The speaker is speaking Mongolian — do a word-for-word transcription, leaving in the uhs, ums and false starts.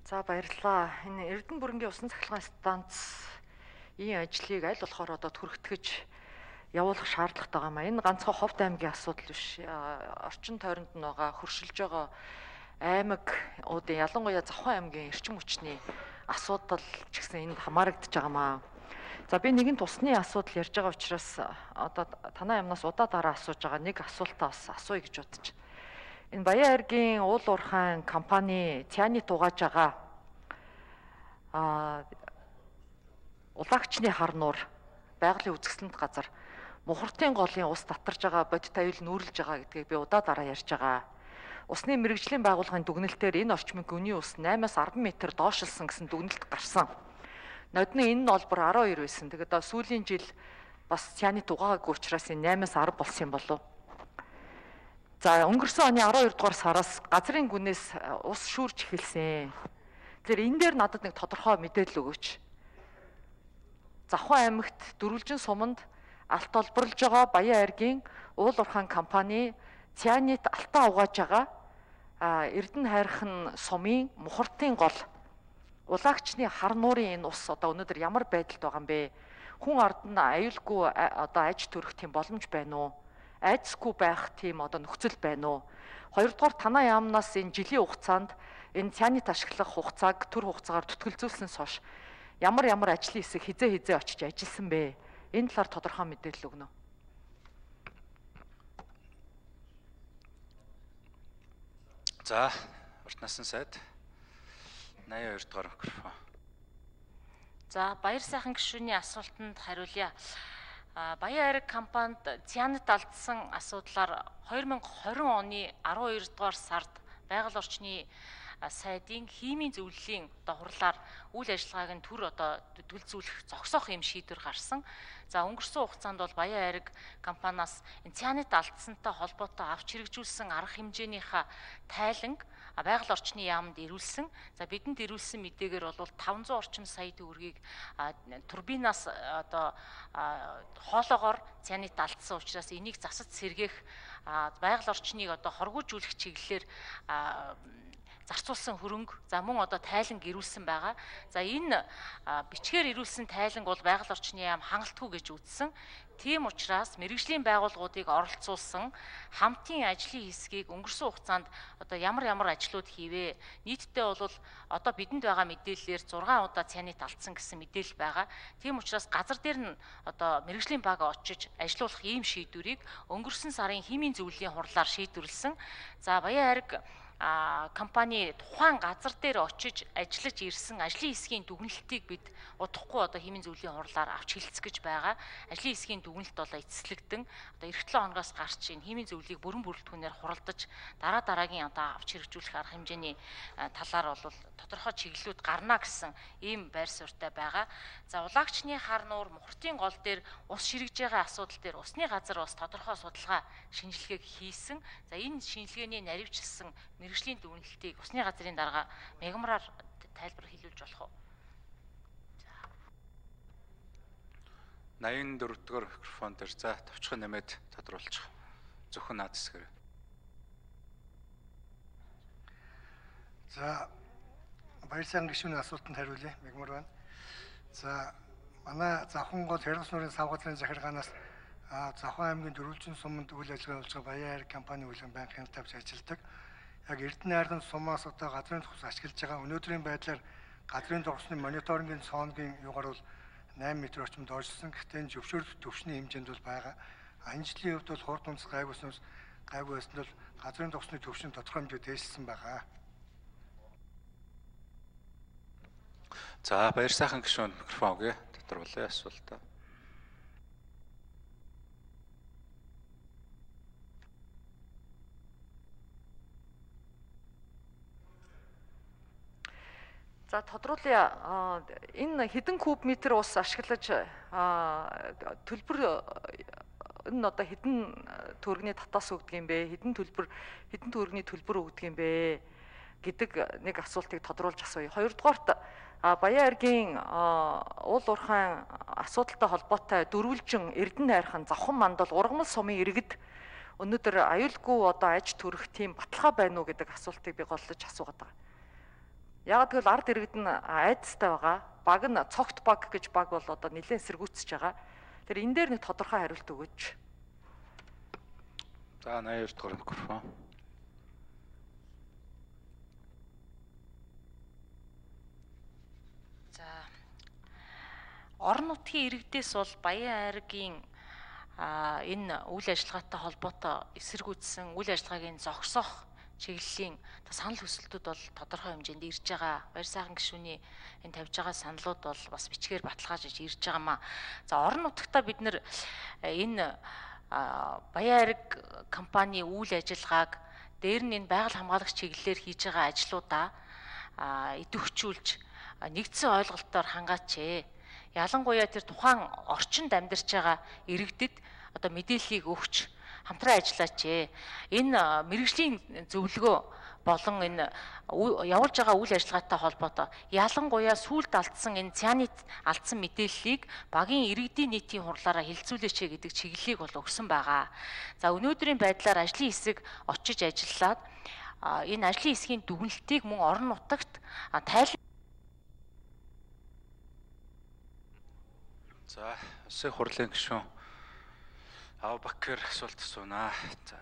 За баярлалаа. Энэ Эрдэнэ бүрэнгийн усан цахилгаан станц ийм ажлыг аль болохоор одоо түргэтгэж явуулах шаардлагатай байгаа юм. Энэ ганцхан Ховд аймгийн асуудал биш. Орчин тойронд нь байгаа хөршилж байгаа аймагуудын ялангуяа Завхан аймгийн эрчим хүчний асуудал ч гэсэн энд хамаарагдаж байгаамаа. За би нэгэн тусны асуудал ярьж байгаа учраас одоо танай амнаас удаа дараа асууж байгаа нэг асуултаа бас асууя гэж бодож байна. Энэ Баян айргийн уул уурхайн компани Цяны тугааж байгаа а улагчны хар нуур байгалийн үзэсгэлэнт газар мухартын голын ус татарж байгаа бодит аюул нүүрлж байгаа гэдгийг би удаа дараа ярьж байгаа. Усны мэрэгжлийн байгууллагын дүгнэлтээр энэ орчмын гүний ус наймаас арван метр доошлсон гэсэн дүгнэлт гарсан. Нодны энэ нь олбор арван хоёр байсан. Тэгээд сүүлийн жил бас Цяны тугаагаагүй учраас энэ наймаас арав болсон юм болов. За өнгөрсөн оны арван хоёр дугаар сараас газрын гүнээс ус шүүрж эхэлсэн. Тэгэхээр энэ дээр надад нэг тодорхой мэдээлэл өгөөч. Завхан аймагт Дөрвөлжин суманд алт олборлож байгаа Баян айргийн уул уурхайн компани Цянит алтаа угааж байгаа Эрдэнэ хайрхан сумын мухартын гол улагчны хар нуурын энэ ус одоо өнөөдөр ямар байдалд байгаа юм бэ? Хүн ард нь аюулгүй одоо аж төрөх тийм боломж байна уу? Айцгүй байх тийм одоо нөхцөл байна уу? Хоёрдугаар танай яамнаас энэ жилийн хугацаанд энэ Цянит ашиглах хугацааг төр хугацаагаар төтгөлзүүлснээс хойш ямар ямар ажлын хэсэг хизээ хизээ очиж ажилласан бэ? Энэ талаар тодорхой мэдээлэл өгнө. За, урт насны сайд наяа хоёр дугаар микрофон. За, баяр сайхан гишүүний асуултанд хариулъя. Баян айраг компанид Цянит алдсан асуудлаар хоёр мянга хорин оны арван хоёр дугаар сард байгаль орчны сайдын химийн зөвлөлийн одоо хурлаар үйл ажиллагааг нь төр одоо дүлзүүлэх зогсоох юм шийдвэр гарсан. За өнгөрсөн хугацаанд бол Баян айраг компаниас Цянит алдсантай холбоотой авч хэрэгжүүлсэн арга хэмжээнийхээ тайланг байгаль орчны яамд ирүүлсэн. За бидэнд ирүүлсэн мэдээгээр бол таван зуун орчим сая төгрөгийг турбинаас одоо хоолоогоор Цянит алдсан учраас энийг засаж сэргээх байгаль орчныг одоо хоргоожүүлэх чиглэлээр зарцуулсан хөрөнгө за мөн одоо тайланг ирүүлсэн байгаа. За энэ бичгээр ирүүлсэн тайланг бол байгаль орчны яам хангалтгүй гэж үзсэн. Тийм учраас мэрэгжлийн байгууллагуудыг оролцуулсан хамтын ажлын хэсгийг өнгөрсөн хугацаанд одоо ямар ямар ажлууд хийвэ? Нийтдээ бол одоо бидэнд байгаа мэдээллээр зургаан удаа Цянит алдсан гэсэн мэдээлэл байгаа. Тийм учраас газар дээр нь одоо мэрэгжлийн баг очиж ажилуулах ийм шийдвэрийг өнгөрсөн сарын химийн зөвлөлийн хурлаар шийдвэрлсэн. За Баян айраг А компани тухайн газар дээр очиж ажиллаж ирсэн ажлын хэсгийн дүгнэлтийг бид удахгүй одоо химийн зөвлөлийн хурлаар авч хэлцгэж байгаа. Ажлын хэсгийн дүгнэлт болоо эцэслэгдэн одоо эх долоо хоногоос гарч энэ химийн зөвлөлийг бүрэн бүрэлдэхүүнээр хуралдаж дараа дараагийн одоо авч хэрэгжүүлэх арга хэмжээний талаар бол тодорхой чиглэлүүд гарна гэсэн ийм байр суурьтай байгаа. За улагчны хар нуур мухартын гол дээр ус ширэгж байгаа асуудал дээр усны газар бас тодорхой судалгаа шинжилгээг хийсэн. За энэ шинжилгээний наривчлсан мэрэгжлийн дүгнэлтийг усны газрын дарга мегмараар тайлбар хэлүүлж болох уу? найман дөрөв дугаар микрофон дээр за товчхон нэмээд тодруулчих. Зөвхөн наад хэсгээр. За баяр сайхан гишүүний асуултанд хариулъя. Мегмар байна. За манай Завхан гол Хэргас нуурын савгадлын захиргаанаас Завхан аймгийн Дөрвөлжин суманд үйл ажиллагаа болж байгаа Баян айраг компани үлгэн банкны тавьж ажилладаг. Яг Эрдэнэ айргийн сумаас одоо газрын төгс ашиглаж байгаа өнөөдрийн байдлаар газрын төгсний мониторингийн цооногийн югаар бол найман метр орчим доошлсон. Гэхдээ энэ зөвшөөрөлт төвшний хэмжээнд бол байгаа. Энэ жилийн хувьд бол хурд унц гайгүйснээс гайгүй байсанд бол газрын төгсний төвшин тодорхой хэмжээнд дээшлсэн байгаа. За баяр сайхан гишүүн микрофон өгье. Тодорхойлъё асуултаа. За тодруулъя энэ хэдэн куб метр ус ашиглаж төлбөр энэ одоо хэдэн төгрөгийн татаас өгдөг юм бэ? Хэдэн төлбөр хэдэн төгрөгийн төлбөр өгдөг юм бэ гэдэг нэг асуултыг тодруулж асууя. Хоёрдугаарт Баян айргийн уул уурхайн асуудалтай холбоотой Дөрвөлжин Эрдэнэ хайрхан Завхан мандал Ургамал сумын иргэд өнөөдөр аюулгүй одоо аж төрөх тийм баталгаа байна уу гэдэг асуултыг би голлож асуугаад байгаа. Яг тэгвэл ард иргэд нь айдастай байгаа. Баг нь цогт баг гэж баг бол одоо нэлээд эсэргүүцэж байгаа. Тэр энэ дээр нэг тодорхой хариулт өгөөч. За наяр дугаар микрофон. За орон нутгийн иргэдээс бол Баян аймгийн а энэ үйл ажиллагаатай холбоотой эсэргүүцсэн үйл ажиллагааг зогсоох чиглэлийн санал хүсэлтүүд бол тодорхой хэмжээнд ирж байгаа. Баяр сайхан гишүүний энэ тавьж байгаа саналууд бол бас бичгээр баталгаажиж ирж байгаамаа. За орон нутгатаа бид нэр энэ Баян айраг компани үйл ажиллагааг дээр нь энэ байгаль хамгаалагч чиглэлээр хийж байгаа ажлуудаа идэвхжүүлж нэгдсэн ойлголтоор хангаач. Ялангуяа тэр тухайн орчинд амьдарч байгаа иргэдэд одоо мэдээллийг өгч хамтран ажиллаач. Энэ мэрэгжлийн зөвлөгөө болон энэ явуулж байгаа үйл ажиллагаатай холбоотой ялангуяа сүүлд алдсан энэ цянит алдсан мэдээллийг багийн иргэдийн нийтийн хурлаараа хилцүүлээч гэдэг чиглэлийг бол өгсөн байгаа. За өнөөдрийн байдлаар ажлын хэсэг очиж ажиллаад энэ ажлын хэсгийн дүгнэлтийг мөн орон нутагт тайлбар. За, улсын хурлын гишүүн Авбакер асуулт асуунаа. За